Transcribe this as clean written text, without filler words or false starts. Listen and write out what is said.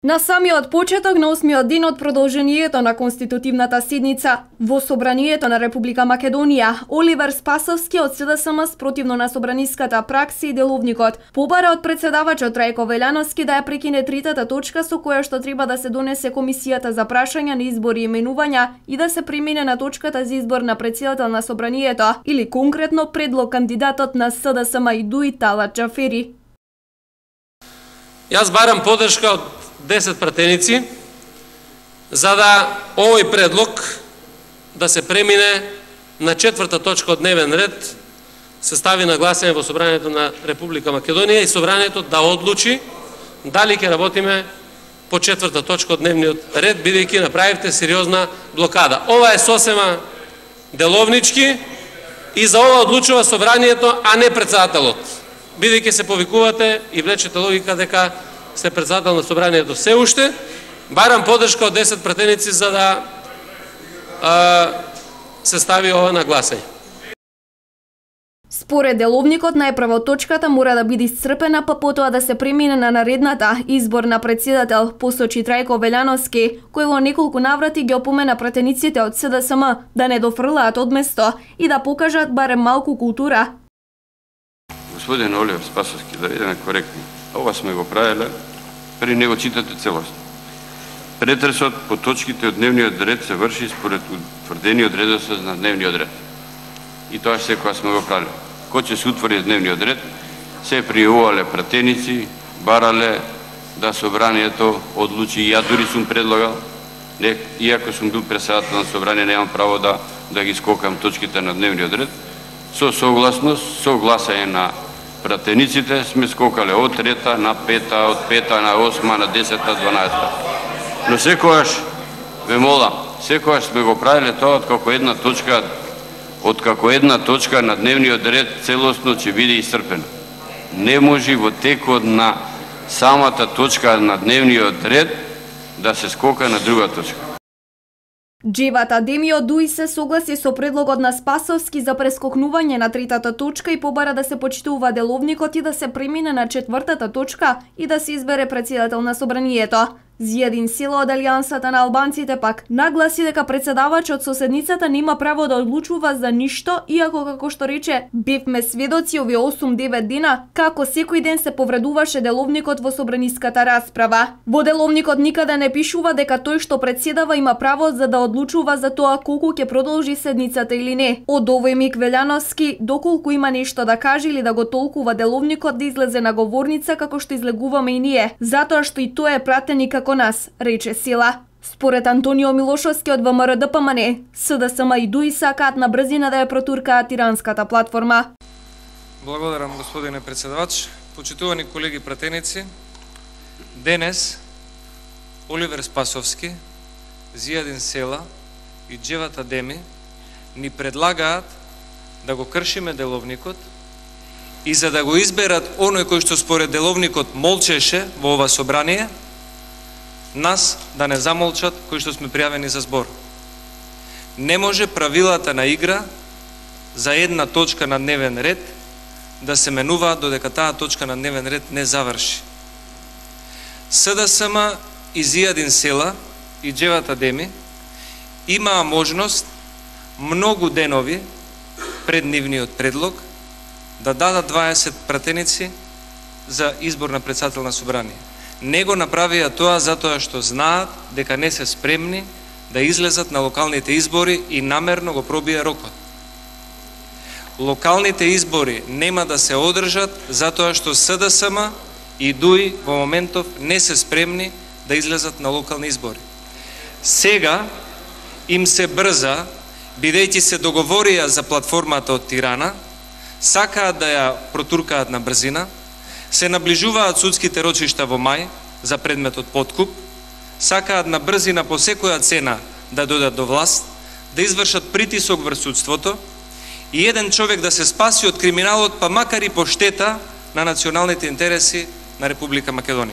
На самиот почеток на 8-миот ден од продолжението на конститутивната седница во Собранието на Република Македонија, Оливер Спасовски од СДСМ спротивно на собраниската пракса и деловникот побара од председавачот Трајко Велјановски да ја прекине третата точка со која што треба да се донесе комисијата за прашања на избори и именувања и да се премине на точката за избор на претседател на Собранието или конкретно предлог кандидатот на СДСМ и ДУИ Талат Џафери. Јас барам поддршка од 10 пратеници за да овој предлог да се премине на четврта точка од дневен ред, се стави на гласање во Собранието на Република Македонија и Собранието да одлучи дали ќе работиме по четврта точка од дневниот ред, бидејќи направивте сериозна блокада. Ова е сосема деловнички и за ова одлучува Собранието, а не председателот. Бидејќи се повикувате и влечете логика дека сте председател на Собранието се уште, барам поддршка од 10 пратеници за да се стави ова на гласање. Според деловникот, најпрво точката мора да биде исцрпена, па потоа да се премине на наредната избор на председател, посочи Трајко Велјановски, кој во неколку наврати ги опомена пратениците од СДСМ да не дофрлаат од место и да покажат барем малку култура. Господин Оливер Спасовски, да бидеме коректни, ова сме го правеле, при него читате целосно. Претресот по точките од дневниот ред се врши според утврдениот редослед на дневниот ред. И тоа секоја сме го правеле. Кој ќе се утвори дневниот ред, се пријавувале пратеници, барале да Собранието одлучи, и ја дури сум предлагал, иако сум бил председател на Собрание, немам право да ги скокам точките на дневниот ред, со согласност, со гласање на пратениците сме скокале од трета на пета, од пета на 8, на 10, 12. Но секојаш, ве молам, секојаш сме го правиле тоа од како една точка на дневниот ред целосно ќе биде исцрпена. Не може во текот на самата точка на дневниот ред да се скока на друга точка. Џевата Деми од ДУИ се согласи со предлогот на Спасовски за прескокнување на третата точка и побара да се почитува деловникот и да се премине на четвртата точка и да се избере председател на Собранието. Зијадин Села од Алијансата на албанците пак нагласи дека председавачот со седницата нема право да одлучува за ништо, иако како што рече, бевме сведоци овие 8-9 дена како секој ден се повредуваше деловникот во собраниската расправа. Во деловникот никаде не пишува дека тој што председава има право за да одлучува за тоа колку ќе продолжи седницата или не. Од овој миг Велјановски, доколку има нешто да каже или да го толкува деловникот, да излезе на говорница како што излегуваме и ние, затоа што и тој е пратеник како нас, рече Села. Според Антонио Милошовски од ВМРО-ДПМН, СДСМ и ДУИ сакаат на брзина да ја протуркаат тиранската платформа. Благодарам, господине председавач. Почитувани колеги пратеници, денес Оливер Спасовски, Зијадин Села и Џевата Деми ни предлагаат да го кршиме деловникот и за да го изберат оној кој што според деловникот молчеше во ова собрание, нас да не замолчат кои што сме пријавени за збор. Не може правилата на игра за една точка на дневен ред да се менуваат додека таа точка на дневен ред не заврши. СДСМ и Зијадин Села и Џевата Деми имаа можност многу денови пред нивниот предлог да дадат 20 пратеници за избор на председател на Собрание. Не го направија тоа затоа што знаат дека не се спремни да излезат на локалните избори и намерно го пробија рокот. Локалните избори нема да се одржат затоа што СДСМ и ДУИ во моментов не се спремни да излезат на локални избори. Сега им се брза, бидејќи се договорија за платформата од Тирана, сакаат да ја протуркаат на брзина, се наближуваат судските рочишта во мај за предметот подкуп, сакаат на брзина по секоја цена да дојдат до власт, да извршат притисок врз судството и еден човек да се спаси од криминалот, па макар и по штета на националните интереси на Република Македонија.